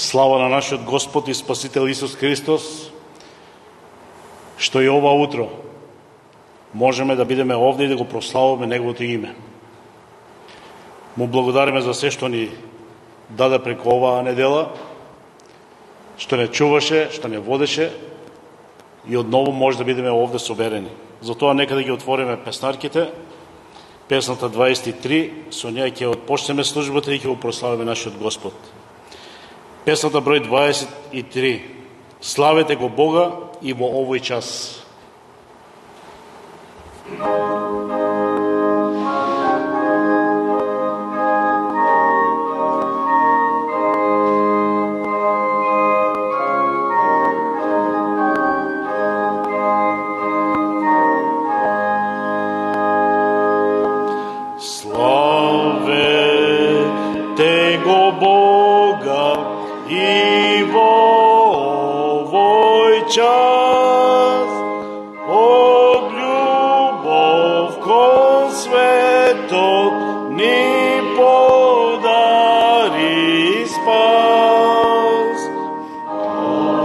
Слава на нашиот Господ и Спасител Исус Христос, што и ова утро можеме да бидеме овде и да го прославуваме Неговото име. Му благодариме за се што ни даде преку оваа недела, што не чуваше, што не водеше и одново може да бидеме овде соберени. Затоа нека да ги отвориме песнарките, песната 23, со неја ќе отпочнеме службата и ќе го прославиме нашиот Господ. Песната број 23. Славете го Бога и во овој час. Славете го Бога и во овој час, од љубов кон светот ни подари спас. Oh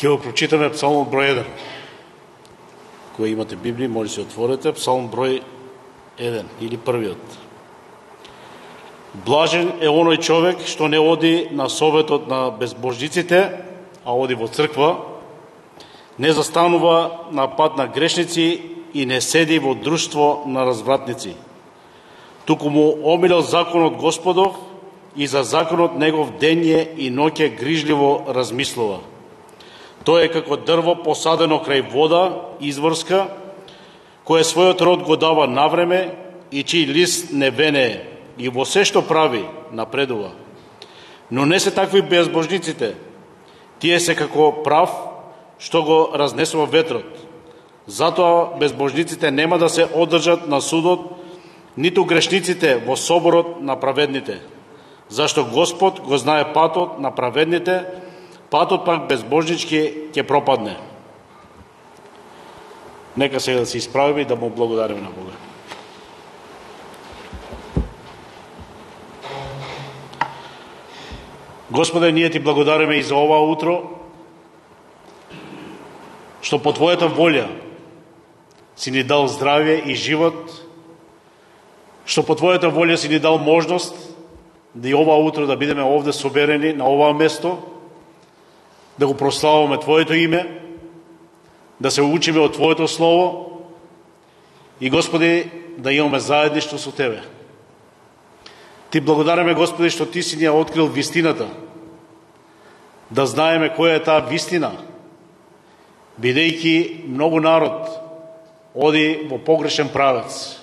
Ќе го прочитаме Псалмот број 1. Кој имате Библија, може се отворите. Псалм број 1 или првиот. Блажен е оној човек што не оди на советот на безбожниците, а оди во црква, не застанува на пат на грешници и не седи во друштво на развратници. Туку му омилел законот Господов и за законот негов дење и ноќе грижливо размислува. Тој е како дрво посадено крај вода изворска, кое својот род го дава навреме и чиј лист не венее, и во се што прави напредува. Но не се такви безбожниците, тие се како прав што го разнесува ветрот. Затоа безбожниците нема да се одржат на судот, ниту грешниците во соборот на праведните. Зашто Господ го знае патот на праведните, патот пак безбожнички ќе пропадне. Нека сега да се исправиме и да му благодариме на Бога. Господе, ние ти благодариме и за ова утро, што по Твојата волја си ни дал здравје и живот, што по Твојата волја си ни дал можност да и ова утро да бидеме овде соберени на ова место, да го прославуваме Твоето име, да се учиме од Твоето Слово и, Господи, да имаме заедништво со Тебе. Ти благодариме, Господи, што Ти си ни ја открил вистината, да знаеме која е таа вистина, бидејќи многу народ оди во погрешен правец.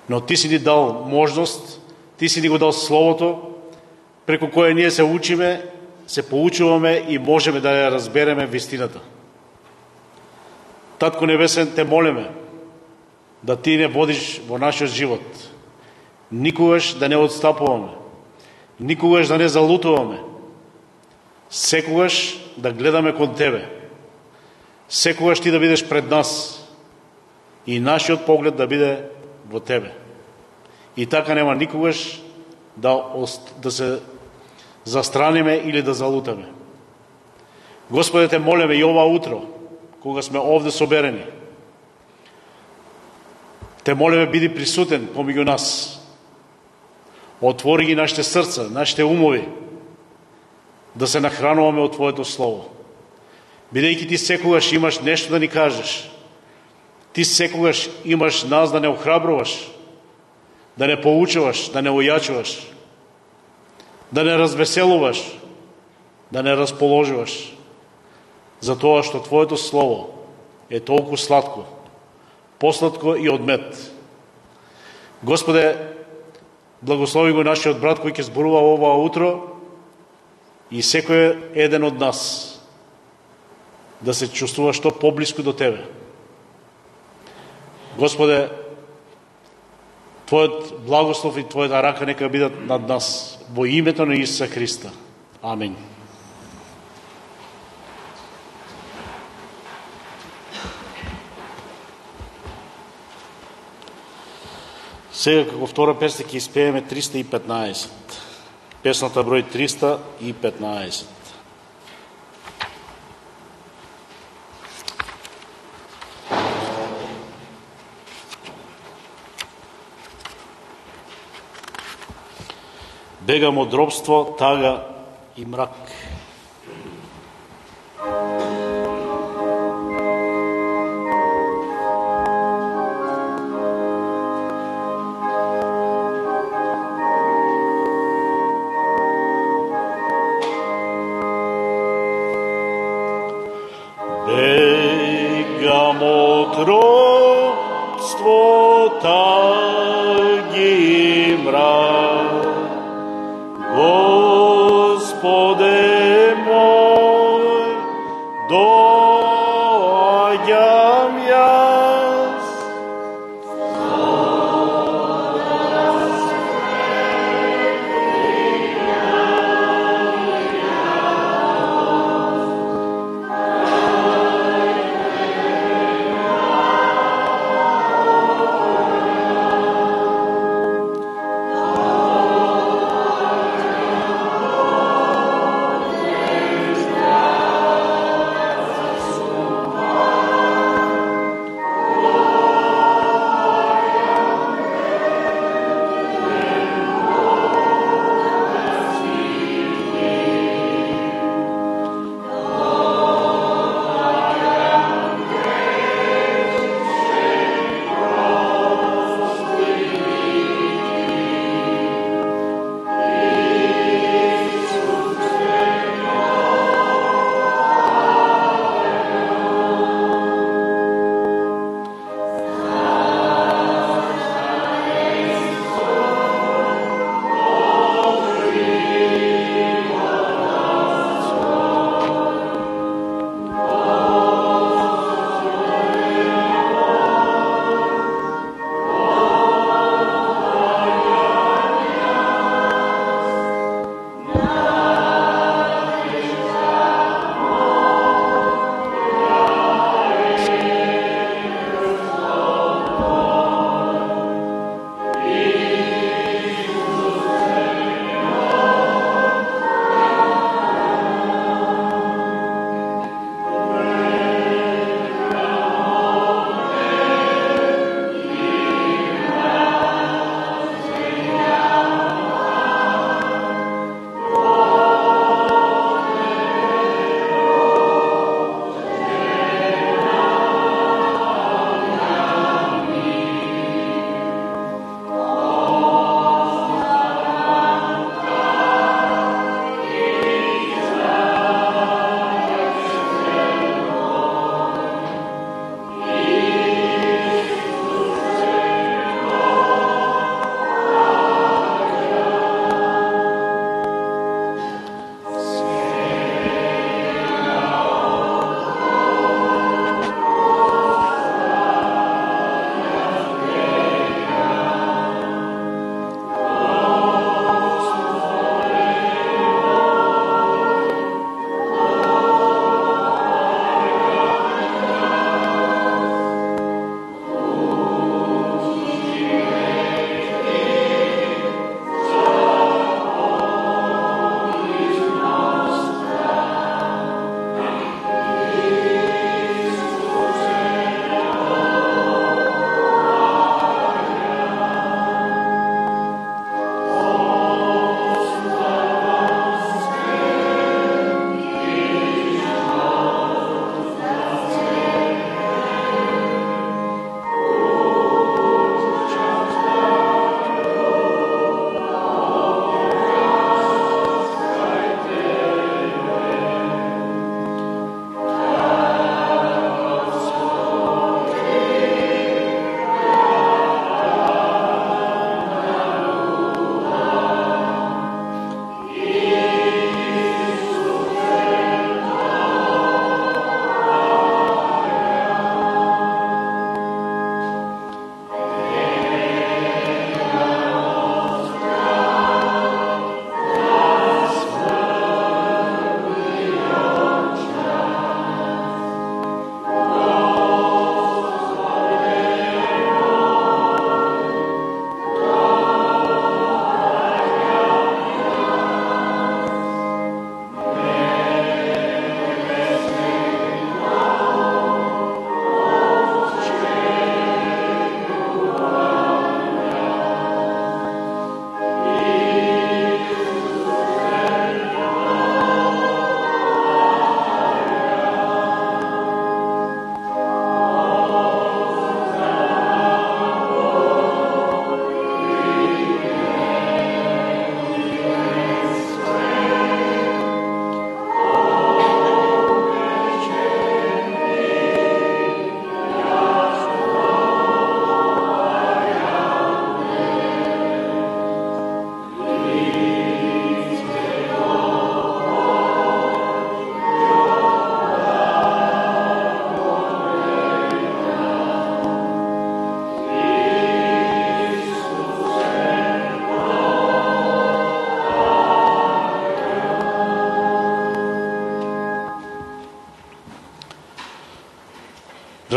Но Ти си ни дал можност, Ти си ни го дал Словото, преку кое ние се учиме, се поучуваме и можеме да ја разбереме вистината. Татко Небесен, те молиме да Ти не водиш во нашиот живот, никогаш да не отстапуваме, никогаш да не залутуваме, секогаш да гледаме кон Тебе, секогаш Ти да бидеш пред нас и нашиот поглед да биде во Тебе. И така нема никогаш да се застраниме или да залутаме. Господе, те молиме и ова утро, кога сме овде соберени, те молиме биди присутен помеѓу нас. Отвори ги нашите срца, нашите умови, да се нахрануваме од Твоето Слово. Бидејќи Ти секогаш имаш нешто да ни кажеш, Ти секогаш имаш нас да не охрабруваш, да не поучуваш, да не ојачуваш, да не развеселуваш, да не расположуваш, затоа што Твоето Слово е толку сладко, посладко и од мед. Господе, благослови го нашиот брат кој ќе зборува ова утро и секој еден од нас да се чувствува што поблиску до Тебе. Господе, Твојот благослов и Твојата рака нека бидат над нас во името на Исуса Христа. Амин. Сега како втора песна ќе испееме 315. Песната број 315. Бегам од робство, тага и мрак. Бегам од робство, таги и мрак. Господе мој, доаѓам јас.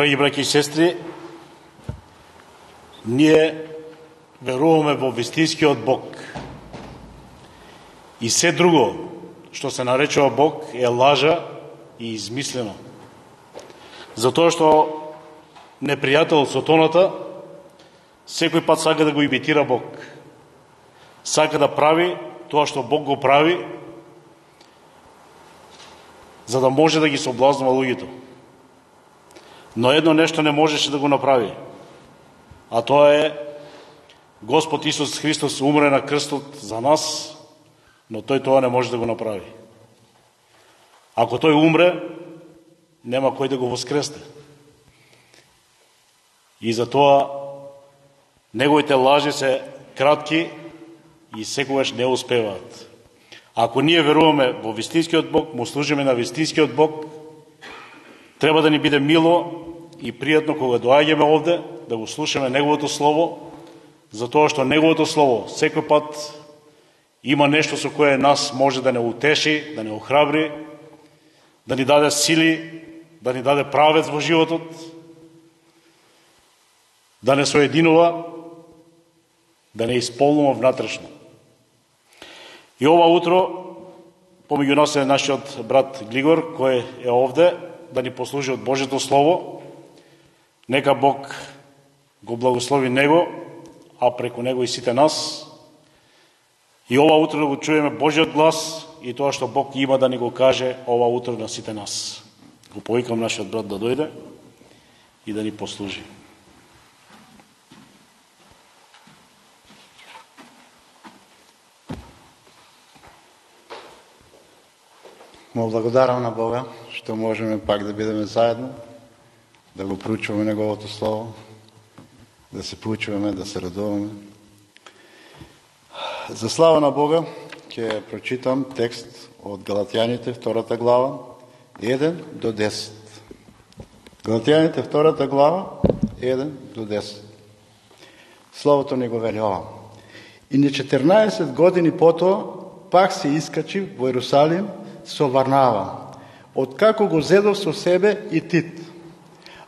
Драги браќи и сестри, ние веруваме во вистинскиот Бог. И се друго што се наречува Бог е лажа и измислено. Затоа што непријател сатаната секој пат сака да го имитира Бог. Сака да прави тоа што Бог го прави, за да може да ги соблазнува луѓето. Но едно нешто не можеше да го направи, а тоа е Господ Исус Христос умре на крстот за нас, но тој тоа не може да го направи. Ако тој умре, нема кој да го воскресне. И затоа неговите лажи се кратки и секогаш не успеваат. Ако ние веруваме во вистинскиот Бог, му служиме на вистинскиот Бог, треба да ни биде мило и пријатно кога доаѓаме овде, да го слушаме Неговото Слово, затоа што Неговото Слово секој пат има нешто со кое нас може да не утеши, да не охрабри, да ни даде сили, да ни даде правец во животот, да не соединува, да не исполнува внатрешно. И ова утро, помеѓу нас е нашиот брат Глигор, кој е овде, да ни послужи од Божјето Слово. Нека Бог го благослови него, а преку него и сите нас. И ова утро да го чуеме Божјиот глас и тоа што Бог има да ни го каже ова утро на сите нас. Го повикам нашиот брат да дојде и да ни послужи. Му благодарам на Бога што можеме пак да бидеме заедно, да го проучуваме Неговото Слово, да се поучуваме, да се радуваме. За слава на Бога ќе прочитам текст од Галатјаните, 2 глава, 1 до 10. Галатјаните, 2 глава, 1 до 10. Словото ни го вели ова. И на 14 години потоа пак се искачи во Иерусалим со Варнава, откако го зедов со себе и Тит.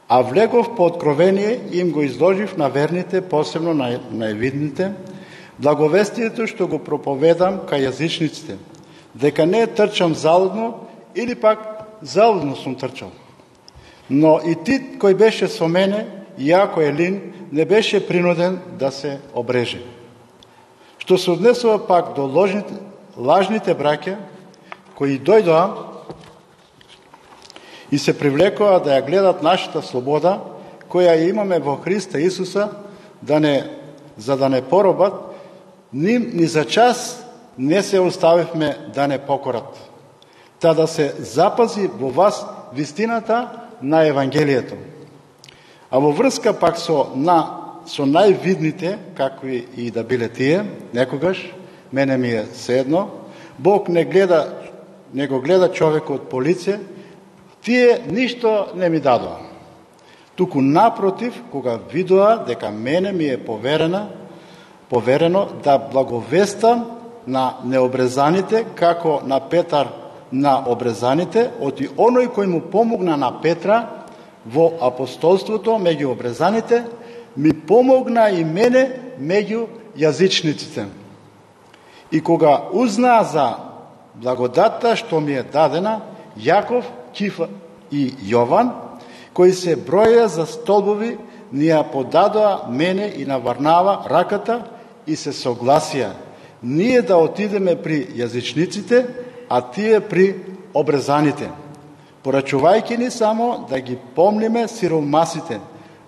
А влегов по откровение и им го изложив на верните, посебно на највидните, благовестието што го проповедам кај јазичниците, дека не трчам залудно или пак залудно сум трчал. Но и Тит кој беше со мене, иако е лин, не беше принуден да се обреже. Што се однесува пак до лажните браќа, кои дојдоа и се привлекоа да ја гледат нашата слобода, која ја имаме во Христа Исуса, за да не поробат, ним ни за час не се оставивме да не покорат, та да се запази во вас вистината на Евангелието. А во врска пак со највидните, какви и да биле тие, некогаш, мене ми е седно, Бог не го гледа човекот по лице, тие ништо не ми дадоа. Туку напротив, кога видоа дека мене ми е поверено да благовестам на необрезаните, како на Петар на обрезаните, оти оној кој му помогна на Петра во апостолството меѓу обрезаните, ми помогна и мене меѓу јазичниците. И кога узнаа за благодатта што ми е дадена, Јаков, Кифа и Јован, кои се броја за столбови, ни ја подадоа мене и на Варнава раката и се согласија ние да отидеме при јазичниците, а тие при обрезаните, порачувајќи ни само да ги помниме сиромасите,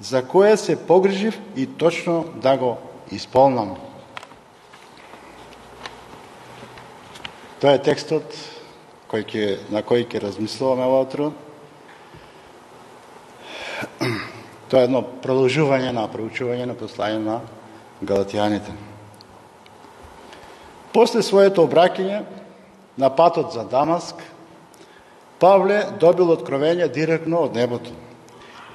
за кое се погрижив и точно да го исполнам. Тоа е текстот на кој ќе размислуваме ова утро. Тоа е едно продолжување на проучување на послање на Галатјаните. После своето обраќање на патот за Дамаск, Павле добил откровение директно од небото.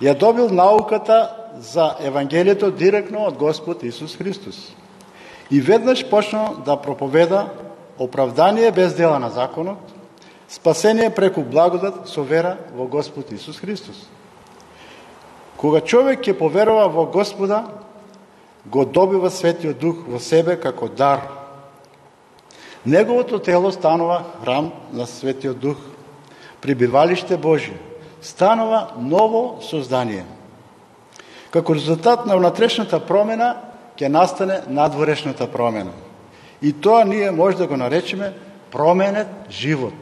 Ја добил науката за Евангелието директно од Господ Исус Христос. И веднаш почнал да проповеда оправдание без дела на законот, спасение преку благодат со вера во Господ Исус Христос. Кога човек ќе поверува во Господа, го добива Светиот Дух во себе како дар. Неговото тело станува храм на Светиот Дух, прибивалиште Божие, станува ново создание. Како резултат на внатрешната промена ќе настане надворешната промена. И тоа ние може да го наречеме променет живот.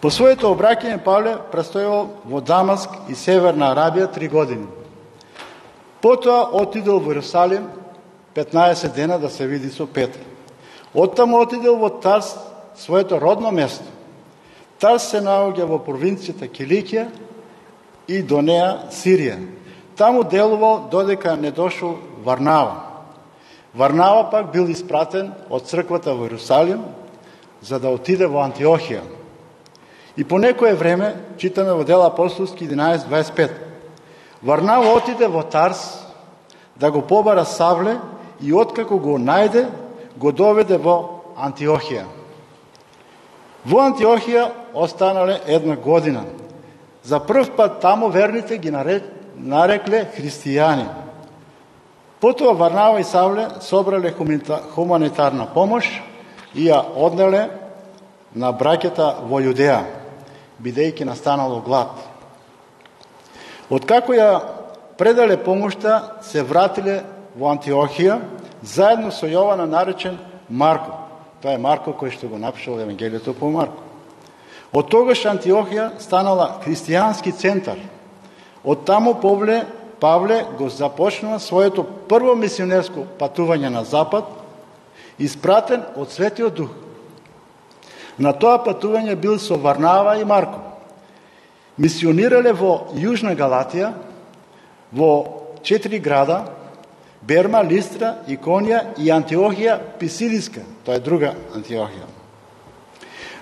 По своето обраќање Павле престојал во Дамаск и Северна Арабија 3 години. Потоа отидел во Иерусалим 15 дена да се види со Петар. Оттаму отидел во Тарс, своето родно место. Тарс се наоѓа во провинцијата Киликија и до неа Сирија. Таму делувал додека не дошол Варнава. Варнава пак бил испратен од црквата во Иерусалим за да отиде во Антиохија. И по некое време, читаме во Дела апостолски 11:25, Варнава отиде во Тарс да го побара Савле и откако го најде, го доведе во Антиохија. Во Антиохија останале 1 година. За прв пат таму верните ги нарекле христијани. Потоа Варнава и Савле собрале хуманитарна помош и ја однеле на браќата во Јудеја, бидејќи настанало глад. Откако ја предале помошта, се вратиле во Антиохија, заедно со Јована наречен Марко. Тоа е Марко кој што го напишал Евангелието по Марко. Од тогаш Антиохија станала христијански центар. Од таму Павле го започнува своето прво мисионерско патување на Запад, испратен од Светиот Дух. На тоа патување бил со Варнава и Марко. Мисионирале во Јужна Галатија, во 4 града, Берма, Листра, Иконија и Антиохија Писидиска, тоа е друга Антиохија.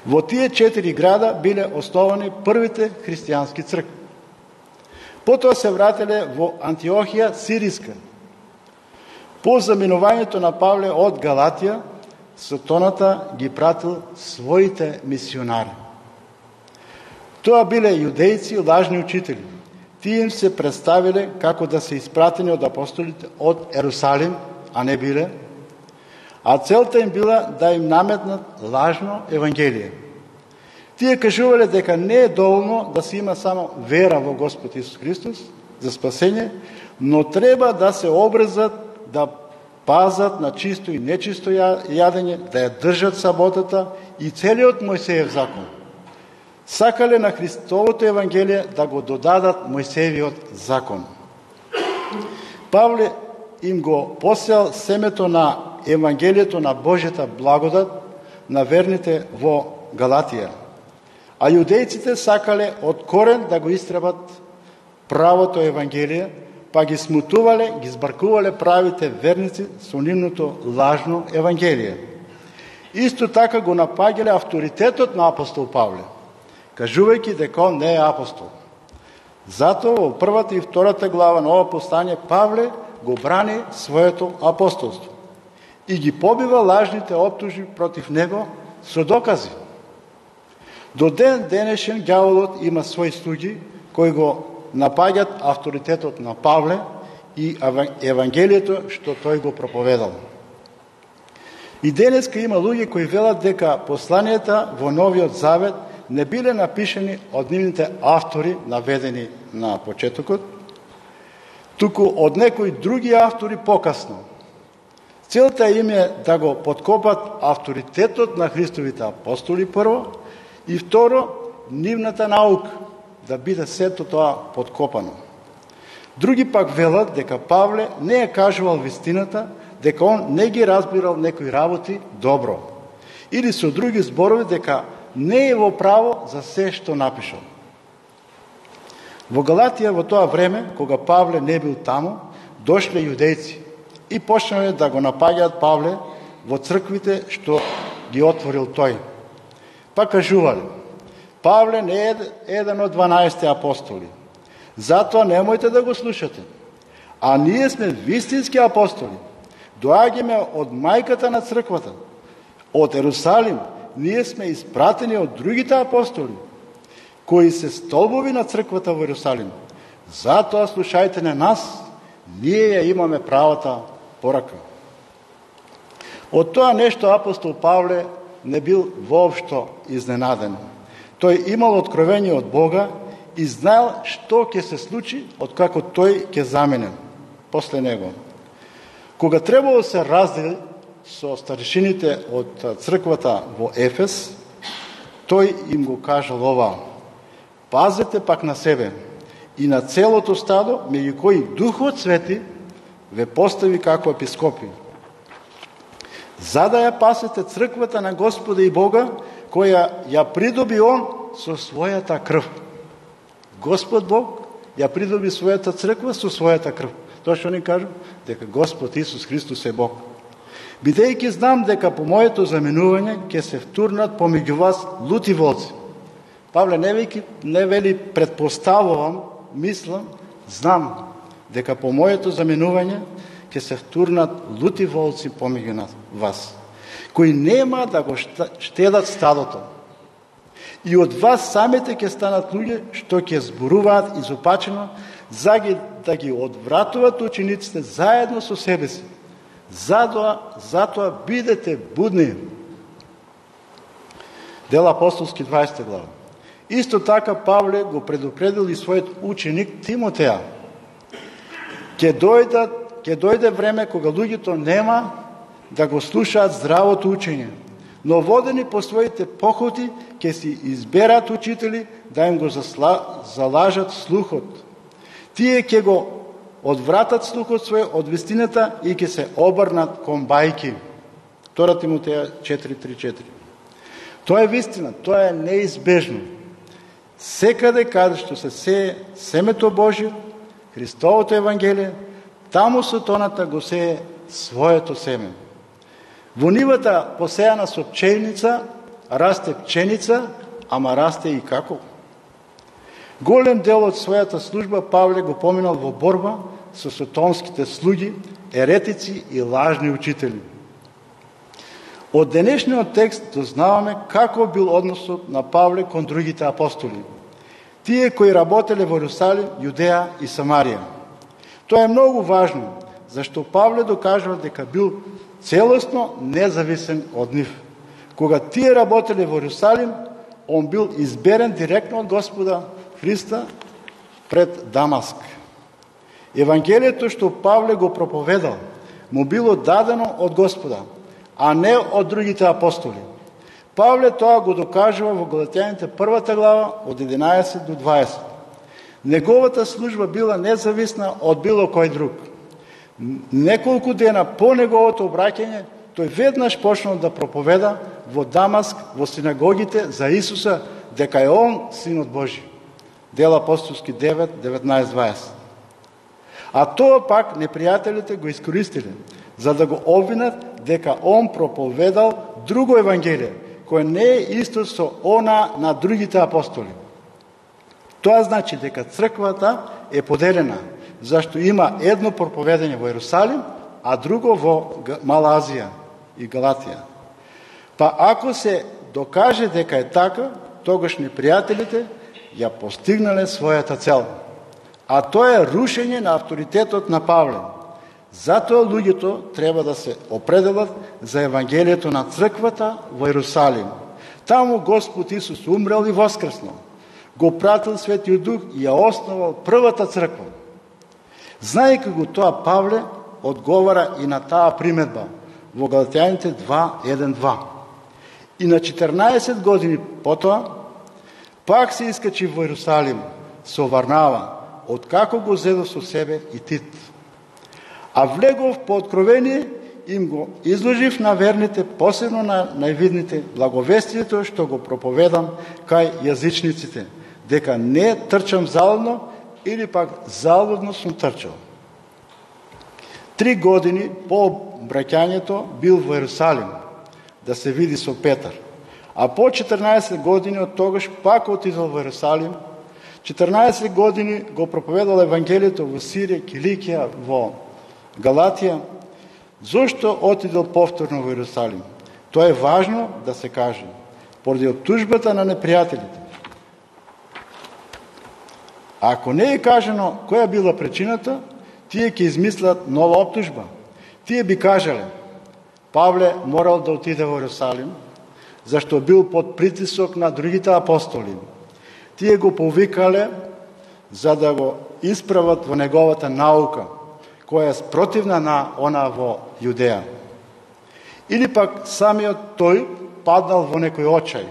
Во тие 4 града биле основани првите христијански цркви. Потоа се вратиле во Антиохија Сириска. По заминувањето на Павле од Галатија, Сатоната ги пратил своите мисионари. Тоа биле јудејци, лажни учители. Тие им се представиле како да се испратени од апостолите од Ерусалим, а не биле, а целта им била да им наметнат лажно евангелие. Тие кажувале дека не е доволно да се има само вера во Господ Исус Христос за спасење, но треба да се обрезат, да пазат на чисто и нечисто јадење, да ја држат саботата и целиот Мојсеев закон. Сакале на Христовото Евангелие да го додадат Мојсеевиот закон. Павле им го посеал семето на Евангелието на Божјата благодат на верните во Галатија, а јудејците сакале од корен да го истребат правото Евангелие, па ги смутувале, ги збаркувале правите верници со нивното лажно Евангелие. Исто така го напаѓале авторитетот на апостол Павле, кажувајќи дека он не е апостол. Затоа во 1 и 2 глава на ова послание Павле го брани своето апостолство и ги побива лажните оптужби против него со докази. До ден денешен ѓаволот има своји слуги кои го напаѓат авторитетот на Павле и Евангелието што тој го проповедал. И денеска има луѓе кои велат дека посланијата во Новиот Завет не биле напишани од нивните автори, наведени на почетокот, туку од некои други автори покасно. Целта им е да го подкопат авторитетот на Христовите апостоли прво и второ, нивната наука, да биде сето тоа подкопано. Други пак велат дека Павле не е кажувал вистината, дека он не ги разбирал некои работи добро. Или со други зборови дека не е во право за се што напишал. Во Галатија во тоа време, кога Павле не бил таму, дошле јудејци и почнале да го напаѓаат Павле во црквите што ги отворил тој. Па кажувале: Павле не е еден од 12 апостоли, затоа немојте да го слушате. А ние сме вистински апостоли. Доаѓаме од мајката на црквата, од Ерусалим. Ние сме испратени од другите апостоли, кои се столбови на црквата во Ерусалим. Затоа слушајте на нас, ние ја имаме правата порака. Од тоа нешто апостол Павле не бил воопшто изненаден. Тој имал откровение од Бога и знаел што ќе се случи откако тој ќе замине после него. Кога требало да се раздели со старешините од црквата во Ефес, тој им го кажал ова: пазете пак на себе и на целото стадо, меѓу кои Духот Свети ве постави како епископи, за да ја пасете црквата на Господа и Бога, која ја придоби Он со својата крв. Господ Бог ја придоби својата црква со својата крв. Тоа што ни кажу? Дека Господ Исус Христос е Бог. Бидејќи знам дека по моето заменување ќе се втурнат помеѓу вас лути волци. Павле не вели предпоставувам, мислам, знам дека по моето заменување ќе се втурнат лути волци помеѓу вас, кои нема да го штедат стадото. И од вас самите ќе станат луѓе што ќе зборуваат изопачено, да ги одвратуваат учениците заедно со себе си. Затоа бидете будни. Дела апостолски 20 глава. Исто така Павле го предупредил и својот ученик Тимотеја. Ќе дојде време кога луѓето нема да го слушаат здравото учење, но водени по своите похоти ќе си изберат учители да им го залажат слухот. Тие ќе го одвратат слухот свој од вистината и ќе се обрнат кон бајки. 2 Тимотеја 4:3-4. Тоа е вистина, тоа е неизбежно. Секаде каде што се сее семето Божие, Христовото Евангелие, таму сатаната го сее своето семе. Во нивата посеяна со пченица, расте пченица, ама расте и како. Голем дел од својата служба Павле го поминал во борба со сатанските слуги, еретици и лажни учители. Од денешниот текст дознаваме како бил односот на Павле кон другите апостоли, тие кои работеле во Иерусалим, Јудеја и Самарија. Тоа е многу важно, зашто Павле докажува дека бил целосно независен од нив. Кога тие работеле во Иерусалим, он бил изберен директно од Господа Христа пред Дамаск. Евангелието што Павле го проповедал, му било дадено од Господа, а не од другите апостоли. Павле тоа го докажува во Галатјаните 1 глава од 11 до 20. Неговата служба била независна од било кој друг. Неколку дена по неговото обраќање, тој веднаш почнал да проповеда во Дамаск, во синагогите за Исуса, дека е Он Синот Божи. Дела апостолски 9, 19-20. А тоа пак непријателите го искористиле, за да го обвинат дека он проповедал друго евангелие, кое не е исто со она на другите апостоли. Тоа значи дека црквата е поделена, зашто има едно проповедање во Иерусалим, а друго во Мала Азија и Галатија. Па ако се докаже дека е така, тогаш непријателите ја постигнале својата цел. А тоа е рушење на авторитетот на Павле. Затоа луѓето треба да се определат за Евангелието на црквата во Иерусалим. Таму Господ Исус умрел и воскреснал. Го пратил Светиот Дух и ја основал првата црква. Знаејќи го тоа, Павле одговара и на таа приметба во Галатјаните 2:1-2. И на 14 години потоа, пак се искачи во Иерусалим со Варнава, откако го зедов со себе и Тит. А влегов по откровение, им го изложив на верните, посебно на највидните, благовестието што го проповедам кај јазичниците, дека не трчам залудно или пак залудно сум трчал. 3 години по браќањето бил во Иерусалим да се види со Петар, а по 14 години од тогаш пак отидол во Иерусалим. 14 години го проповедал Евангелието во Сирија, Киликија, во Галатија. Зошто отидол повторно во Иерусалим? Тоа е важно да се каже. Поради оптужбата на непријателите. Ако не е кажано која била причината, тие ќе измислат нова оптужба. Тие би кажале, Павле морал да отиде во Иерусалим, зашто бил под притисок на другите апостоли. Тие го повикале за да го исправат во неговата наука, која е спротивна на она во Јудеја. Или пак самиот тој паднал во некој очај,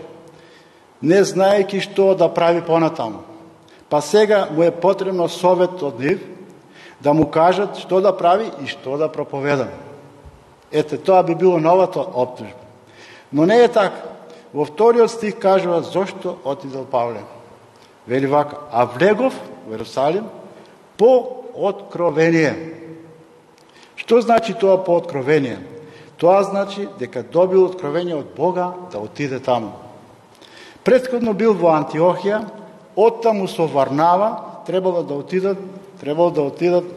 не знаејќи што да прави понатаму. Па сега му е потребно совет од нив, да му кажат што да прави и што да проповеда. Ете, тоа би било новата оптужба. Но не е така. Во вториот стих кажува зошто отидел Павле. Вели вака, а влегов во Иерусалим по откровение. Што значи тоа по откровение? Тоа значи дека добил откровение од Бога да отиде таму. Претходно бил во Антиохија, оттаму со Варнава требало да отидат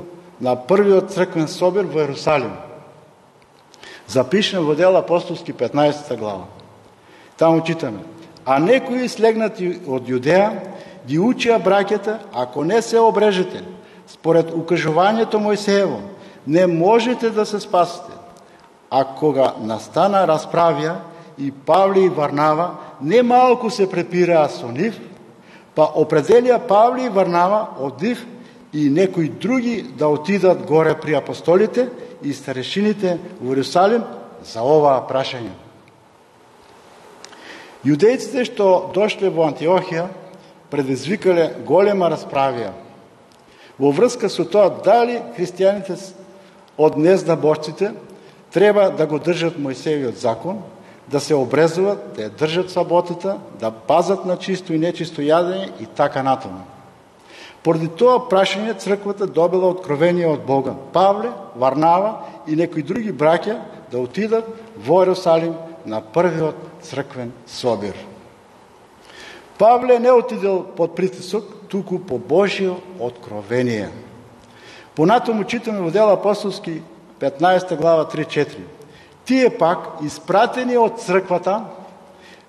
на првиот црквен собир во Иерусалим. Запишем во Дела апостолски 15 глава. Таму читаме, а некои слегнати од Јудеја ги учија браќата, ако не се обрежете, според укажувањето Мојсеево, не можете да се спасите. А кога настана расправија, и Павле и Варнава немалку се препираа со нив, па определија Павле и Варнава од нив и некои други да отидат горе при апостолите и старешините во Иерусалим за оваа прашање. Јудејците што дошле во Антиохија предизвикале голема расправија во врска со тоа дали христијаните од незнабожците треба да го држат Мојсеевиот закон, да се обрезуват, да ја држат саботата, да пазат на чисто и нечисто јадење и така натаму. Поради тоа прашање црквата добила откровение од Бога. Павле, Варнава и некои други браќа да отидат во Иерусалим на првиот црквен собир. Павле не отидел под притисок, туку по Божјо откровение. Понатаму читаме во Дела апостолски 15 глава 3-4. Тие пак, испратени од црквата,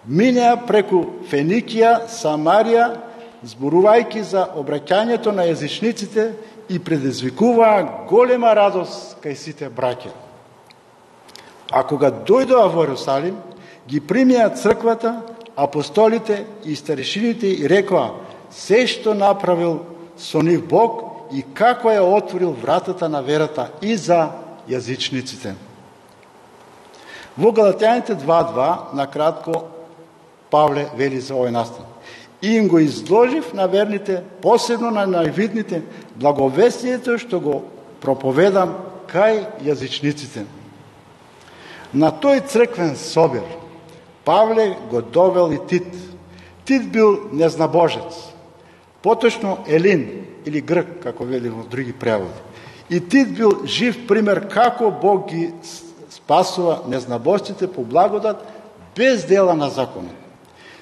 минеа преку Феникија, Самарија, зборувајќи за обраќањето на јазичниците и предизвикуваа голема радост кај сите браќа. А кога дојдоа во Иерусалим, ги примија црквата, апостолите и старешините и рекоа се што направил со нив Бог и како ја отворил вратата на верата и за јазичниците. Во Галатјаните 2.2 накратко Павле вели за овој настан. И им го изложив на верните, посебно на највидните, благовестието што го проповедам кај јазичниците. На тој црквен собир Павле го довел и Тит. Тит бил незнабожец, поточно Елин или грк, како вели во други преводи. И Тит бил жив пример како Бог ги спасува незнабожците по благодат без дела на законот.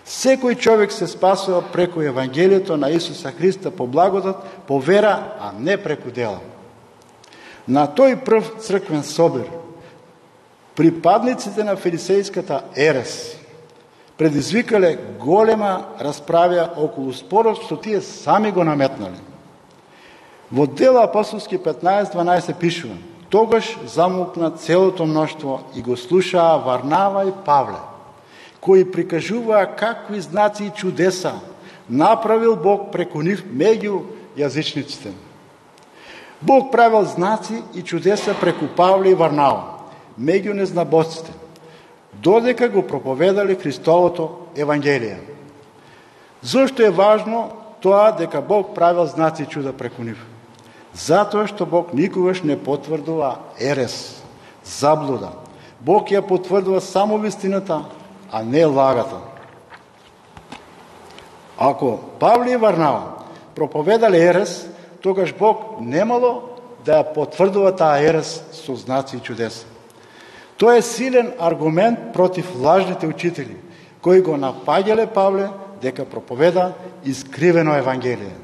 Секој човек се спасува преку Евангелието на Исуса Христа по благодат, по вера, а не преку дела. На тој прв црквен собир припадниците на фарисејската ерес предизвикале голема расправја околу спорот што тие сами го наметнале. Во Дела апостолски 15.12 пишува: тогаш замолкна целото мноштво и го слушаа Варнава и Павле, кои прикажуваа какви знаци и чудеса направил Бог преку нив меѓу јазичниците. Бог правил знаци и чудеса преку Павле и Варнава меѓу незнабожците, додека го проповедале Христовото Евангелие. Зошто е важно тоа дека Бог правил знаци и чуда преку нив? Затоа што Бог никогаш не потврдува ерес, заблуда. Бог ја потврдува само вистината, а не лагата. Ако Павле и Варнава проповедале ерес, тогаш Бог немало да ја потврдува таа ерес со знаци и чудеса. Тоа е силен аргумент против лажните учители, кои го напаѓале Павле дека проповеда искривено Евангелие.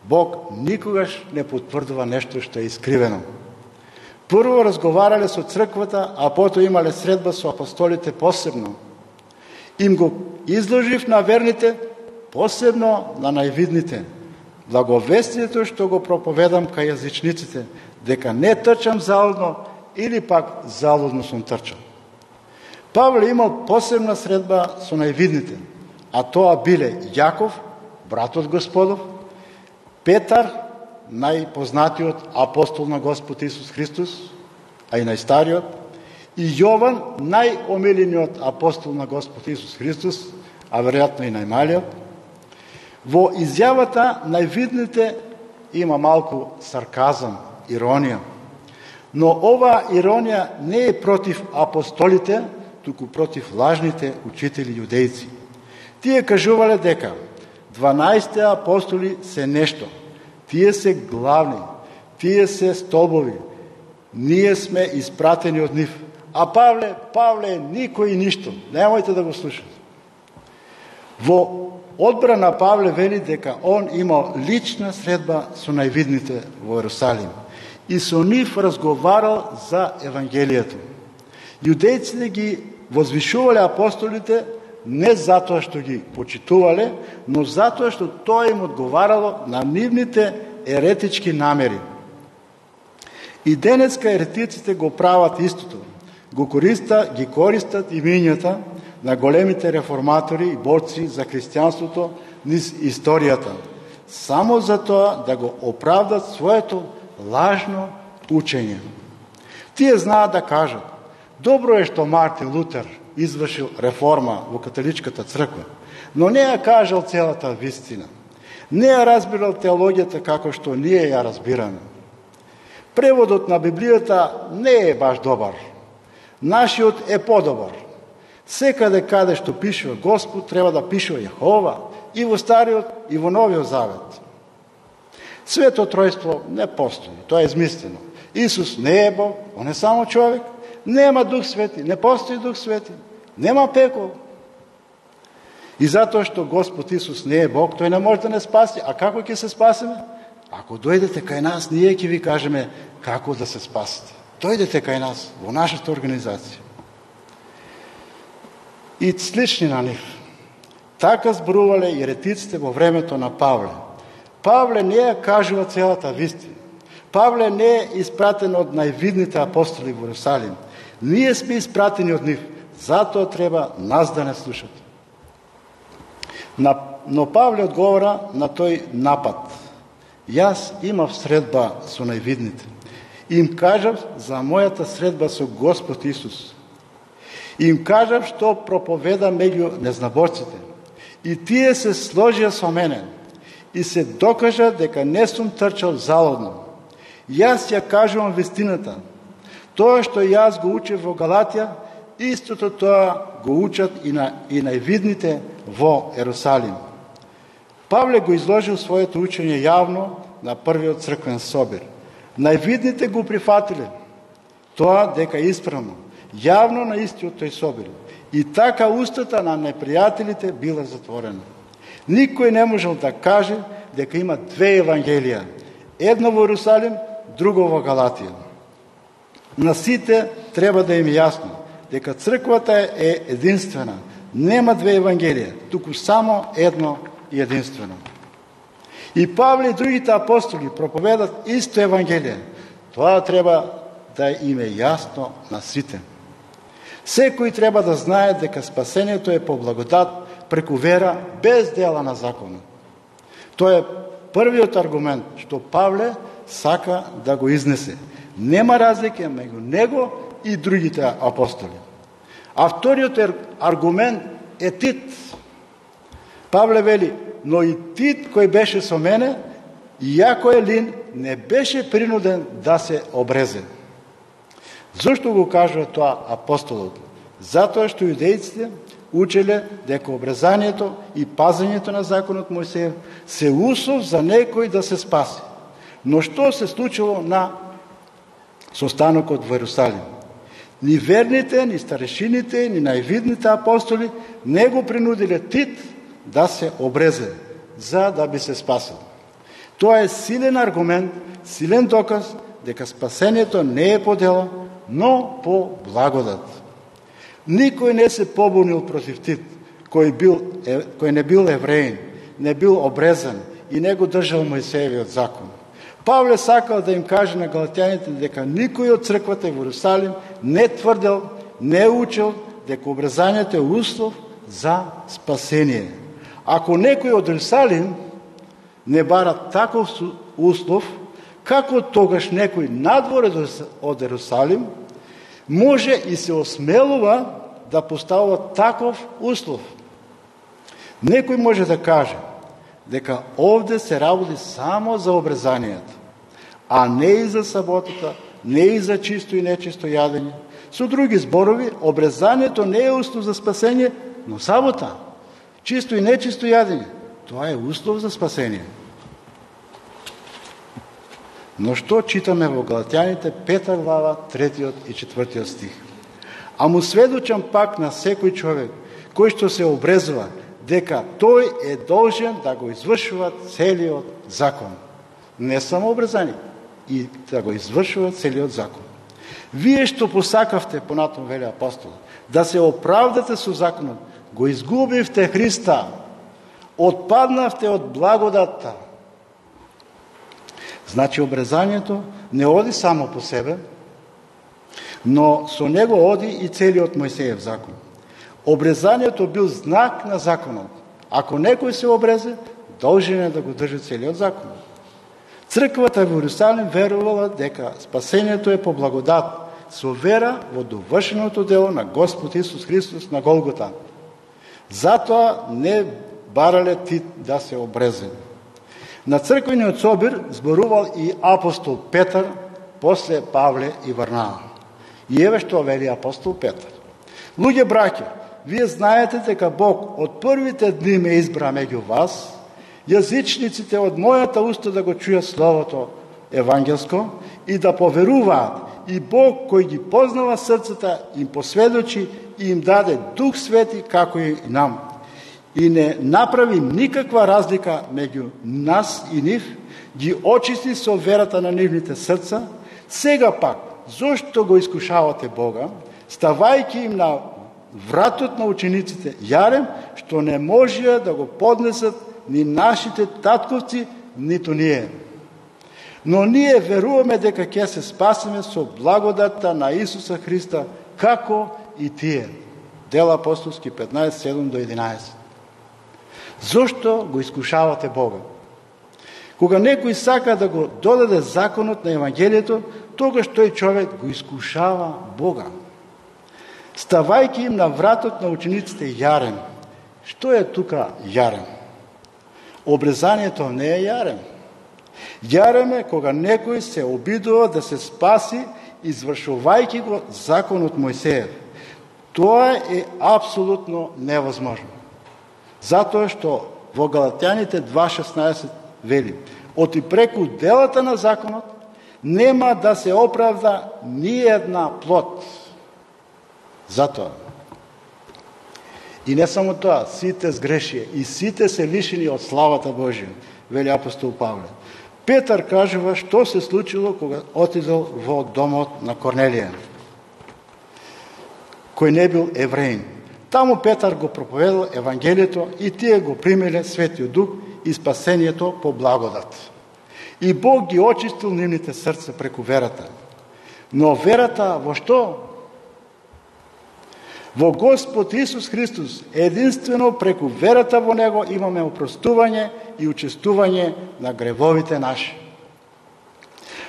Бог никогаш не потврдува нешто што е искривено. Прво разговарале со црквата, а потоа имале средба со апостолите посебно. Им го изложив на верните, посебно на највидните. благовестието што го проповедам кај јазичниците, дека не трчам залудно или пак залудно сум трчал. Павле имал посебна средба со највидните, а тоа биле Јаков, братот Господов, Петар, најпознатиот апостол на Господ Исус Христос, а и најстариот, и Јован, најомилениот апостол на Господ Исус Христос, а веројатно и најмалиот. Во изјавата највидните има малку сарказам, иронија. Но оваа иронија не е против апостолите, туку против лажните учители јудејци. Тие кажувале дека 12 апостоли се нешто, тие се главни, тие се столбови, ние сме испратени од нив. А Павле е никој и ништо. Немојте да го слушате. Во одбрана Павле вели дека он имал лична средба со највидните во Ерусалим и со нив разговарал за Евангелието. Јудејците ги возвишувале апостолите не затоа што ги почитувале, но затоа што тоа им одговарало на нивните еретички намери. И денеска еретиците го прават истото. Ги користат имињата на големите реформатори и борци за христијанството низ историјата, само за тоа да го оправдат своето лажно учење. Тие знаат да кажат: добро е што Мартин Лутер извршил реформа во католичката црква, но не ја кажал целата вистина. Не ја разбирал теологијата како што ние ја разбираме. Преводот на Библијата не е баш добар. Нашиот е подобар. Секаде каде што пишува Господ, треба да пишува Јехова, и во Стариот, и во Новиот Завет. Свето тројство не постои, тоа е измислено. Исус не е Бог, он е само човек, нема Дух Свети, не постои Дух Свети, нема пекол. И затоа што Господ Исус не е Бог, тој не може да не спаси. А како ќе се спасиме? Ако дојдете кај нас, ние ќе ви кажеме како да се спасите. Дојдете кај нас, во нашата организација. И слични на нив. Така зборувале еретиците во времето на Павле. Павле не ја кажува целата вистина. Павле не е испратен од највидните апостоли во Ерусалим. Ние сме испратени од нив. Затоа треба нас да не слушате. Но Павле одговора на тој напад. Јас имав средба со највидните. Им кажав за мојата средба со Господ Исус. Им кажав што проповеда меѓу незнаборците. И тие се сложија со мене. И се докажа дека не сум трчал залудно. Јас ја кажувам вистината. Тоа што јас го учев во Галатија, истото тоа го учат и највидните во Ерусалим. Павле го изложил своето учење јавно на првиот црквен собир. Највидните го прифатиле. Тоа дека е исправно. Јавно на истиот тој собир. И така устата на непријателите била затворена. Никој не можел да каже дека има две евангелија. Едно во Ерусалим, друго во Галатија. На сите треба да им е јасно дека црквата е единствена. Нема две евангелија, туку само едно и единствено. И Павле и другите апостоли проповедат исто евангелие. Тоа треба да им е јасно на сите. Секој треба да знае дека спасението е по благодат преку вера без дела на законот. Тоа е првиот аргумент што Павле сака да го изнесе. Нема разлика меѓу него и другите апостоли. А вториот аргумент е Тит. Павле вели: но и Тит кој беше со мене, иако е лин, не беше принуден да се обрезе. Зошто го кажува тоа апостолот? Затоа што јудејците учеле дека обрезанието и пазењето на законот Мојсеев се услов за некој да се спаси. Но што се случило на состанокот во Ерусалим? Ни верните, ни старешините, ни највидните апостоли не го принудиле Тит да се обрезе, за да би се спасил. Тоа е силен аргумент, силен доказ дека спасението не е по дело, но по благодат. Никој не се побунил против Тит, кој не бил евреин, не бил обрезан и не го држал Мојсеевиот закон. Павле сакал да им каже на галатјаните дека никој од црквата во Иерусалим не тврдел, не учел дека обрезанието е услов за спасение. Ако некој од Иерусалим не бара таков услов, како тогаш некој надвор од Иерусалим може и се осмелува да поставува таков услов? Некој може да каже дека овде се работи само за обрезанието, а не и за саботата, не и за чисто и нечисто јадење. Со други зборови, обрезанието не е услов за спасение, но сабота, чисто и нечисто јадење, тоа е услов за спасение. Но што читаме во Галатјаните 5 глава, 3 и 4 стих? А му сведочам пак на секој човек кој што се обрезува, дека тој е должен да го извршува целиот закон. Не само обрезани, и да го извршува целиот закон. Вие што посакавте, понатом вели апостол, да се оправдате со законот, го изгубивте Христа, отпаднавте од благодатта. Значи обрезанието не оди само по себе, но со него оди и целиот Мојсеев закон. Обрезанието бил знак на законот. Ако некој се обрезе, должен е да го држи целиот закон. Црквата во Иерусалим верувала дека спасението е по благодат, со вера во довршеното дело на Господ Исус Христос на Голгота. Затоа не барале Тит да се обрезе. На црквениот собир зборувал и апостол Петар, после Павле и Варнава. И еве што вели апостол Петар. Луѓе браќа, вие знаете дека Бог од првите дни ме избра меѓу вас, јазичниците од мојата уста да го чујат словото евангелско и да поверуваат, и Бог кој ги познава срцата им посведочи и им даде Дух Свети како и нам. И не направи никаква разлика меѓу нас и нив, ги очисти со верата на нивните срца. Сега пак, зошто го искушавате Бога, ставајќи им на вратот на учениците јарем, што не можеа да го поднесат ни нашите татковци, ниту ние. Но ние веруваме дека ќе се спасиме со благодатта на Исуса Христа, како и тие. Дела апостолски 15, 7 до 11. Зошто го искушавате Бога? Кога некој сака да го додаде законот на Евангелието, тогаш тој човек го искушава Бога. Ставајќи им на вратот на учениците јарем. Што е тука јарем? Обрезанието не е јарем. Јарем е кога некој се обидува да се спаси, извршувајќи го законот Мојсеев. Тоа е апсолутно невозможно. Затоа што во Галатјаните 2.16 вели: оти преку делата на законот нема да се оправда ни една плот. Затоа. И не само тоа, сите сгрешија и сите се лишени од славата Божија, вели апостол Павле. Петар кажува што се случило кога отидел во домот на Корнелија, кој не бил евреин. Таму Петар го проповедал Евангелието и тие го примиле Светиот Дух и спасението по благодат. И Бог ги очистил нивните срца преку верата. Но верата во што? Во Господ Исус Христос. Единствено преку верата во Него имаме опростување и учествување на гревовите наши.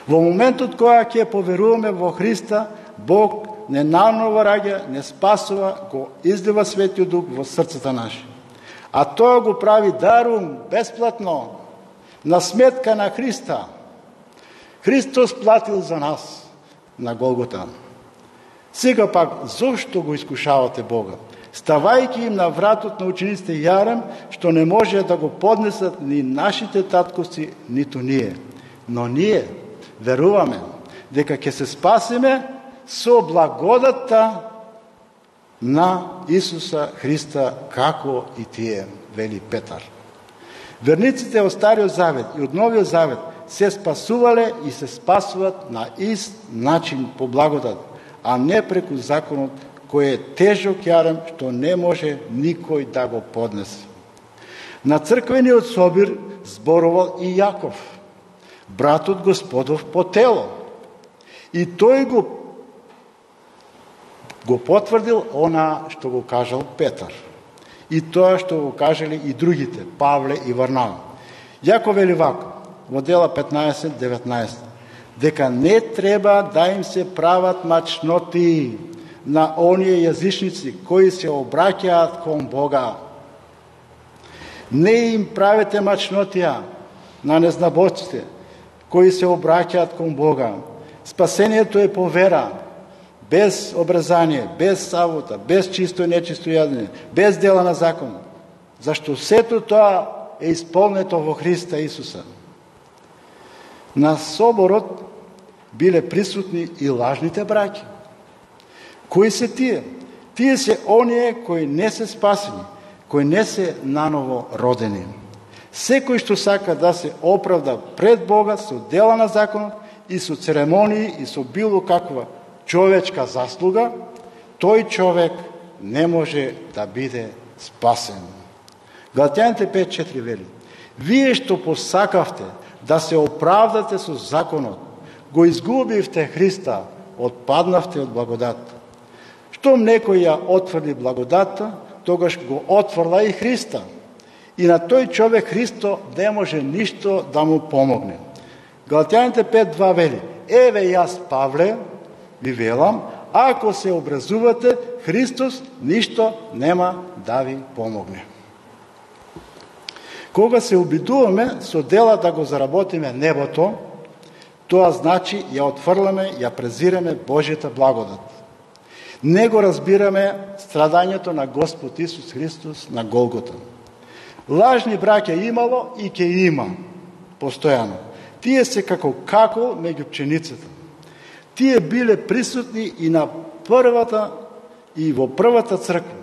Во моментот кога ќе поверуваме во Христа, Бог не наново раѓа, не спасува, го излива Светиот Дух во срцата наши. А тоа го прави дарум, бесплатно, на сметка на Христа. Христос платил за нас на Голгота. Сега пак, зошто го искушавате Бога? Ставајќи им на вратот на учениците јарем, што не може да го поднесат ни нашите татковци, ниту ние. Но ние веруваме дека ќе се спасиме со благодатта на Исуса Христа, како и тие, вели Петар. Верниците од Стариот Завет и од Новиот Завет се спасувале и се спасуват на ист начин по благодат, а не преку законот кој е тежок јарем што не може никој да го поднесе. На црквениот собир зборувал и Јаков, братот Господов по тело. И тој го потврдил она што го кажал Петар. И тоа што го кажали и другите, Павле и Варнава. Јаков вели вака, во Дела 15:19, дека не треба да им се прават мачноти на оние јазичници кои се обраќаат кон Бога. Не им правете мачнотија на незнабоците кои се обраќаат кон Бога. Спасението е по вера, без обрезание, без сабота, без чисто и нечисто јадење, без дела на закон, зашто сето тоа е исполнето во Христа Исуса. На соборот биле присутни и лажните браќи. Кои се тие? Тие се оние кои не се спасени, кои не се наново родени. Секој што сака да се оправда пред Бога со дела на законот и со церемонии и со било каква човечка заслуга, тој човек не може да биде спасен. Галатјаните 5:4 вели: вие што посакавте да се оправдате со законот, го изгубивте Христа, отпаднавте од благодат. Штом некој ја отврди благодатта, тогаш го отврла и Христа. И на тој човек Христо не може ништо да му помогне. Галатјаните 5:2 вели: еве јас, Павле, ви велам, ако се образувате, Христос ништо нема да ви помогне. Кога се обидуваме со дела да го заработиме небото, тоа значи ја отфрламе, ја презираме Божјата благодат. Не го разбираме страдањето на Господ Исус Христос на Голгота. Лажни браќа имало и ќе има постојано. Тие се како какол меѓу пченицата. Тие биле присутни и на првата и во првата црква.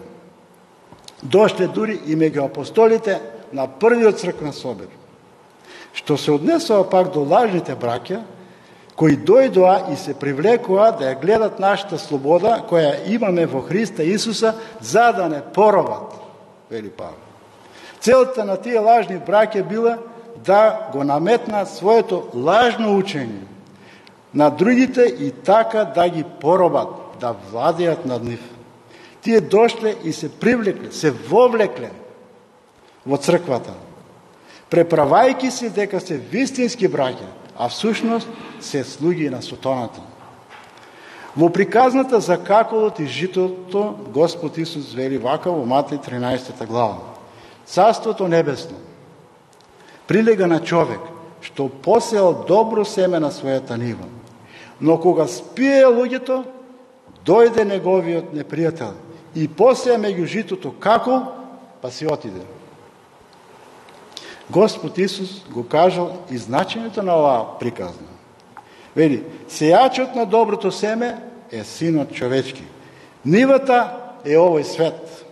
Дошле дури и меѓу апостолите на првиот црквен собор. Што се однесува пак до лажните браќа, кои дојдоа и се привлекоа да ја гледат нашата слобода, која имаме во Христа Исуса, за да не поробат, вели Павле. Целта на тие лажни браќа била да го наметнат своето лажно учење на другите и така да ги поробат, да владеат над нив. Тие дошле и се привлекле, се вовлекле во црквата, преправајки се дека се вистински браќа, а всушност се слуги на сатаната. Во приказната за каколот и житото, Господ Исус вели вака во Матеј 13 глава: Царството небесно прилега на човек што посеал добро семе на својата нива, но кога спие луѓето, дојде неговиот непријател и посеа меѓу житото какол, па си отиде. Господ Исус го кажал и значењето на оваа приказна. Вели: сејачот на доброто семе е синот човечки. Нивата е овој свет.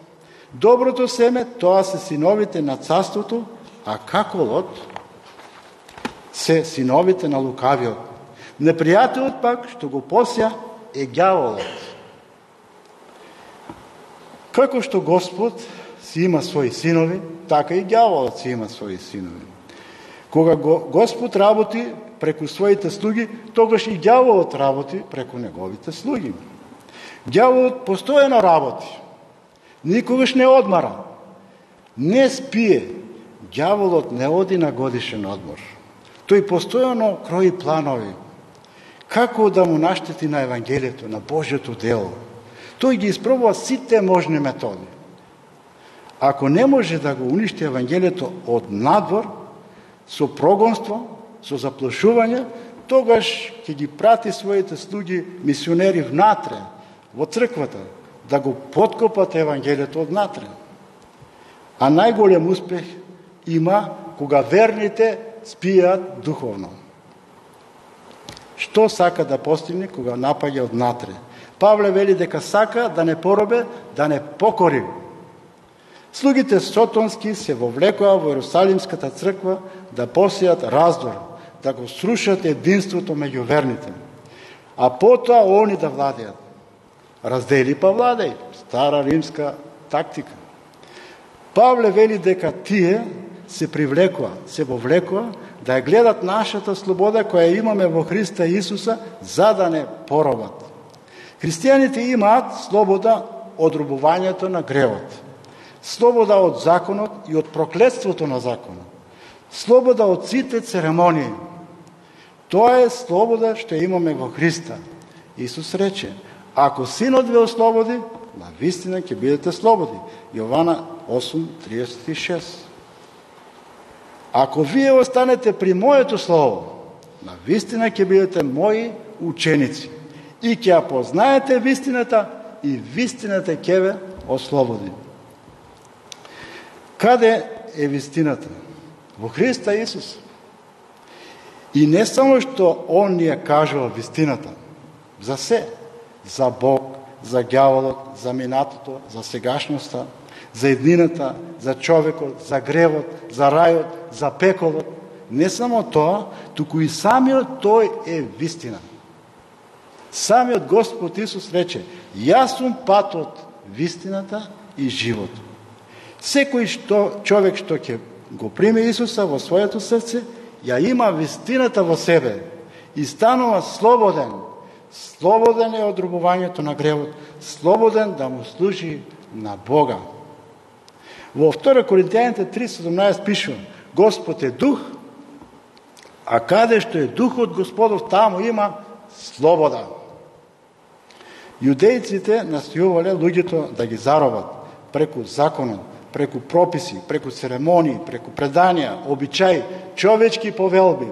Доброто семе, тоа се синовите на царството, а каколот се синовите на лукавиот. Непријателот пак, што го посеа, е ѓаволот. Како што Господ си има своји синови, така и ѓаволот си има своји синови. Кога Господ работи преку своите слуги, тогаш и ѓаволот работи преку неговите слуги. Ѓаволот постојано работи. Никогаш не одмара. Не спие. Ѓаволот не оди на годишен одмор. Тој постојано крои планови. Како да му наштети на Евангелието, на Божјото дело. Тој ги испробува сите можни методи. Ако не може да го уништи Евангелието од надвор, со прогонство, со заплашување, тогаш ќе ги прати своите слуги мисионери внатре, во црквата, да го подкопат Евангелието од натре. А најголем успех има кога верните спијат духовно. Што сака да постигне кога напаѓа од натре? Павле вели дека сака да не поробе, да не покори. Слугите сотонски се вовлекоа во Иерусалимската црква да посејат раздор, да го срушат единството меѓу верните, а потоа они да владеат. Раздели па владеј, стара римска тактика. Павле вели дека тие се привлекува, се вовлекува да ја гледат нашата слобода која имаме во Христа Исуса, за да не поробат. Христијаните имаат слобода од робувањето на гревот, слобода од законот и од проклетството на законот, слобода од сите церемонии. Тоа е слобода што имаме во Христа. Исус рече: ако Синот ве ослободи, на вистина ќе бидете слободни. Јована 8:36. Ако вие останете при моето слово, на вистина ќе бидете мои ученици и ќе ја познаете вистината и вистината ќе ве ослободи. Каде е вистината? Во Христа Исус. И не само што Он ни ја кажува вистината, за се, за Бог, за ѓаволот, за минатото, за сегашноста, за еднината, за човекот, за гревот, за рајот, за пеколот. Не само тоа, туку и самиот тој е вистина. Самиот Господ Исус рече: јас сум патот, вистината и животот. Секој човек што ќе го приме Исуса во своето срце, ја има вистината во себе и станува слободен. Слободен е од робувањето на гревот, слободен да му служи на Бога. Во 2 Коринтијаните 3:17 пишува: Господ е дух, а каде што е духот Господов, таму има слобода. Јудејците настојувале луѓето да ги заробат преку законот, преку прописи, преку церемонии, преку преданија, обичаи, човечки повелби.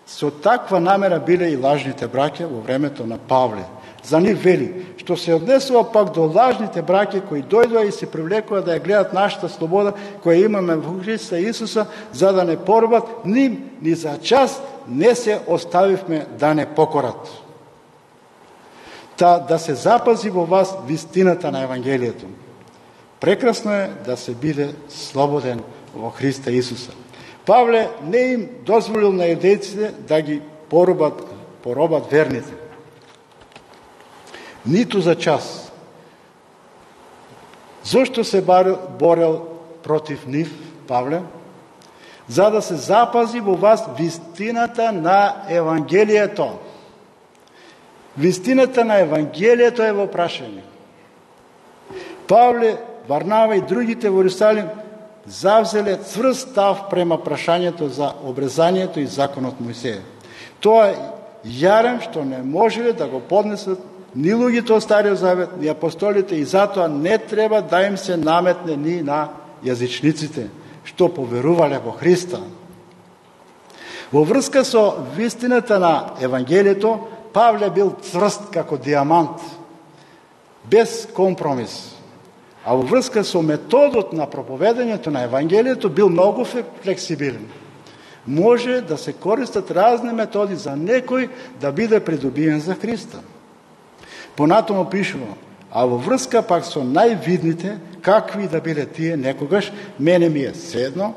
Со таква намера биле и лажните браќа во времето на Павле. За нив вели: што се однесува пак до лажните браќа кои дојдоа и се привлекува да ја гледат нашата слобода која имаме во Христа Исуса, за да не поробат, ним ни за час не се оставивме да не покорат. Та да се запази во вас вистината на Евангелието. Прекрасно е да се биде слободен во Христа Исуса. Павле не им дозволил на јудејците да ги поробат верните. Ниту за час. Зошто се борел против нив, Павле? За да се запази во вас вистината на Евангелието. Вистината на Евангелието е во прашање. Павле, Варнава и другите во Иерусалим завзеле цврст став према прашањето за обрезанието и законот Мојсеја. Тоа е јарем што не можеле да го поднесат ни луѓето од Стариот Завет, ни апостолите, и затоа не треба да им се наметне ни на јазичниците, што поверувале во Христа. Во врска со вистината на Евангелието, Павле бил цврст како диамант, без компромис. А во врска со методот на проповедањето на Евангелието бил многу флексибилен. Може да се користат разни методи за некој да биде придобиен за Христа. Понатомо пишува: а во врска пак со највидните, какви да биле тие некогаш, мене ми е седно.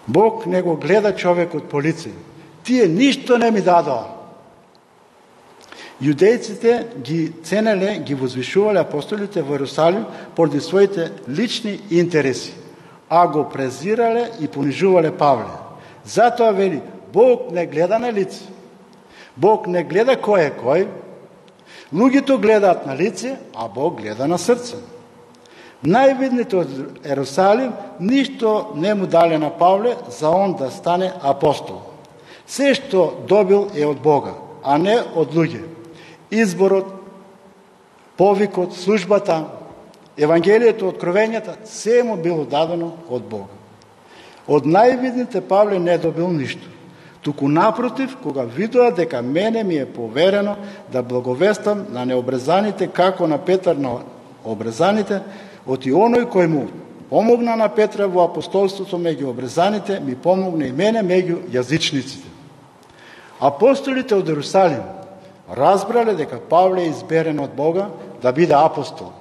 Бог не го гледа човекот по лице. Тие ништо не ми дадоа. Јудејците ги ценеле, ги возвишувале апостолите во Иерусалим поради своите лични интереси, а го презирале и понижувале Павле. Затоа вели: Бог не гледа на лице. Бог не гледа кој е кој. Луѓето гледаат на лице, а Бог гледа на срце. Највидните од Иерусалим ништо не му дале на Павле за он да стане апостол. Се што добил е од Бога, а не од луѓе. Изборот, повикот, службата, Евангелието, откровењата, се му било дадено од Бога. Од највидните Павле не добил ништо. Туку напротив, кога видоа дека мене ми е поверено да благовестам на необрезаните, како на Петар на обрезаните, оти оној кој му помогна на Петра во апостолството меѓу обрезаните, ми помогна и мене меѓу јазичниците. Апостолите од Иерусалим разбрале дека Павле е изберен од Бога да биде апостол,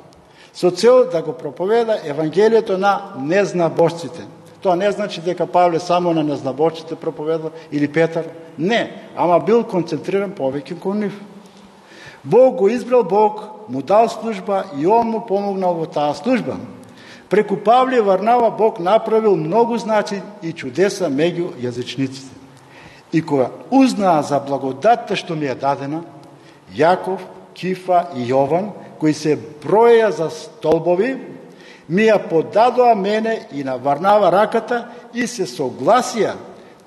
со цел да го проповеда Евангелието на незнабожците. Тоа не значи дека Павле само на незнабожците проповедал или Петар. Не, ама бил концентриран повеќе кон нив. Бог го избрал, Бог му дал служба и он му помогнал во таа служба. Преку Павле и Варнава Бог направил многу знаци и чудеса меѓу јазичниците. И кога узнаа за благодатта што ми е дадена, Јаков, Кифа и Јован, кои се броја за столбови, ми ја подадоа мене и на Варнава раката и се согласија